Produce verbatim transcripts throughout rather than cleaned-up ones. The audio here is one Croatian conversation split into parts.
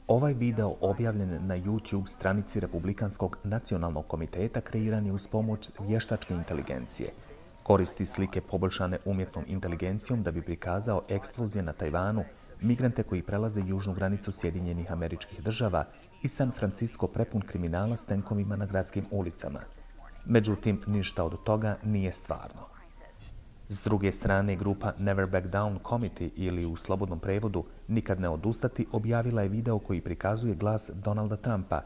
Ovaj video objavljen na YouTube stranici Republikanskog nacionalnog komiteta kreiran je uz pomoć vještačke inteligencije. Koristi slike poboljšane umjetnom inteligencijom da bi prikazao eksplozije na Tajvanu, migrante koji prelaze južnu granicu Sjedinjenih Američkih Država i San Francisco prepun kriminala s tenkovima na gradskim ulicama. Međutim, ništa od toga nije stvarno. S druge strane, grupa Never Back Down Committee ili u slobodnom prevodu Nikad ne odustati objavila je video koji prikazuje glas Donalda Trumpa.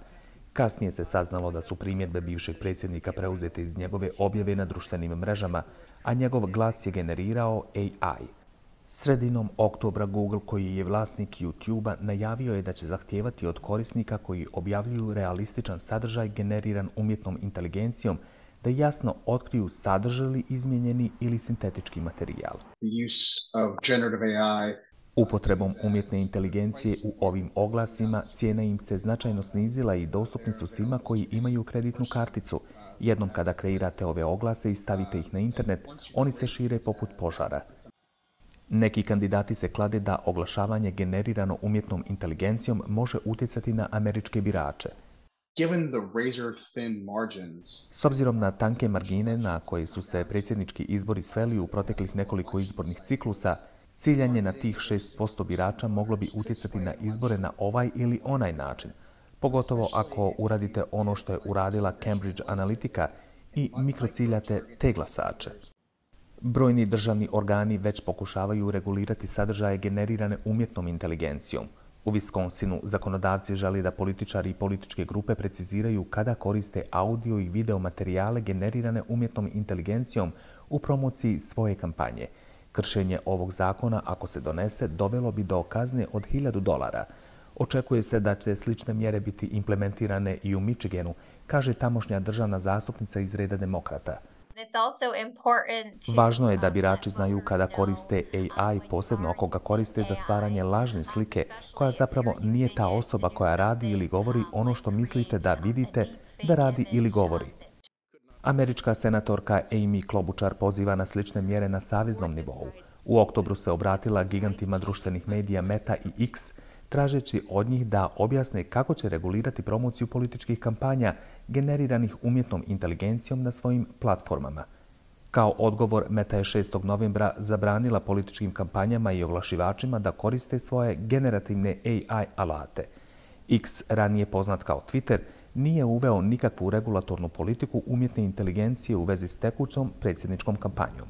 Kasnije se saznalo da su primjedbe bivšeg predsjednika preuzete iz njegove objave na društvenim mrežama, a njegov glas je generirao A I. Sredinom oktobra Google, koji je vlasnik YouTube-a, najavio je da će zahtijevati od korisnika koji objavljuju realističan sadržaj generiran umjetnom inteligencijom da jasno otkriju sadrže li izmijenjeni ili sintetički materijal. Upotrebom umjetne inteligencije u ovim oglasima cijena im se značajno snizila i dostupni su svima koji imaju kreditnu karticu. Jednom kada kreirate ove oglase i stavite ih na internet, oni se šire poput požara. Neki kandidati se klade da oglašavanje generirano umjetnom inteligencijom može utjecati na američke birače. S obzirom na tanke margine na koje su se predsjednički izbori sveli u proteklih nekoliko izbornih ciklusa, ciljanje na tih šest posto birača moglo bi utjecati na izbore na ovaj ili onaj način, pogotovo ako uradite ono što je uradila Cambridge Analytica i mikrociljate te glasače. Brojni državni organi već pokušavaju regulirati sadržaje generirane umjetnom inteligencijom. U Wisconsinu zakonodavci želi da političari i političke grupe preciziraju kada koriste audio i video materijale generirane umjetnom inteligencijom u promociji svoje kampanje. Kršenje ovog zakona, ako se donese, dovelo bi do kazne od hiljadu dolara. Očekuje se da će slične mjere biti implementirane i u Michiganu, kaže tamošnja državna zastupnica iz reda demokrata. Važno je da birači znaju kada koriste A I, posebno ako ga koriste za stvaranje lažne slike, koja zapravo nije ta osoba koja radi ili govori ono što mislite da vidite da radi ili govori. Američka senatorka Amy Klobuchar poziva na slične mjere na saveznom nivou. U oktobru se obratila gigantima društvenih medija Meta i X, tražeći od njih da objasne kako će regulirati promociju političkih kampanja generiranih umjetnom inteligencijom na svojim platformama. Kao odgovor, Meta je šestog novembra zabranila političkim kampanjama i oglašivačima da koriste svoje generativne A I alate. X, ranije poznat kao Twitter, nije uveo nikakvu regulatornu politiku umjetne inteligencije u vezi s tekućom predsjedničkom kampanjom.